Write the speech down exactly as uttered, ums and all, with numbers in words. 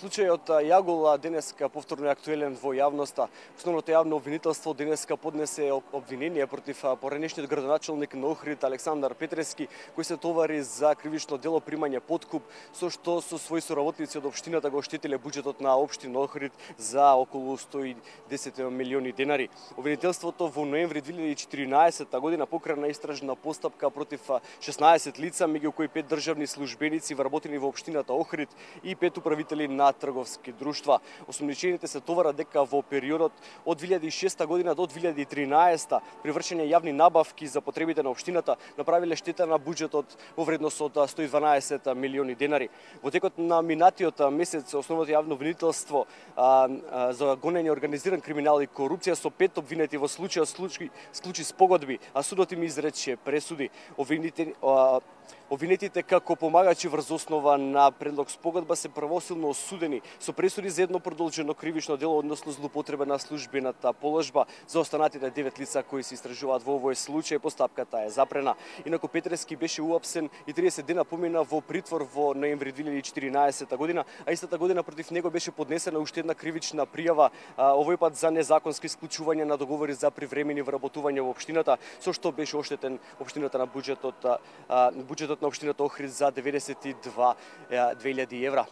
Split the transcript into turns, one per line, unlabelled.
Случајот Јагол денеска повторно е актуелен во јавноста. Основното јавно обвинителство денеска поднесе обвинение против поранешниот градоначалник на Охрид Александар Петрески, кој се товари за кривично дело примање подкуп, со што со своји соработници од општината го оштетиле буџетот на општина Охрид за околу сто и десет милиони денари. Обвинителството во ноември две илјади и четиринаесетта година покрена истражна постапка против шеснаесет лица, меѓу кои пет државни службеници вработени во општината Охрид и пет управители на трговски друштва. Осомничените се товарат дека во периодот од две илјади и шеста година до две илјади и тринаесетта при вршење јавни набавки за потребите на општината направиле штета на буџетот во вредност од сто и дванаесет милиони денари. Во текот на минатиот месец основното јавно обвинителство а, а, за гонење организиран криминал и корупција со пет обвинети во случајот случај склучи спогодби, а судот им изрече пресуди. Обвинети, а, Обвинетите како помагачи врз основа на предлог спогодба се правосилно осудени со пресуди за едно продолжено кривично дело, односно злоупотреба на службената положба. За останатите девет лица кои се истражуваат во овој случај, постапката е запрена. Инаку Петрески беше уапсен и триесет дена помина во притвор во ноември две илјади и четиринаесетта година, а истата година против него беше поднесена уште една кривична пријава, овој пат за незаконски исклучување на договори за привремени вработување во општината, со што беше оштетен општината на буџетот, буџетот на општината Охрид за деветдесет и две илјади евра.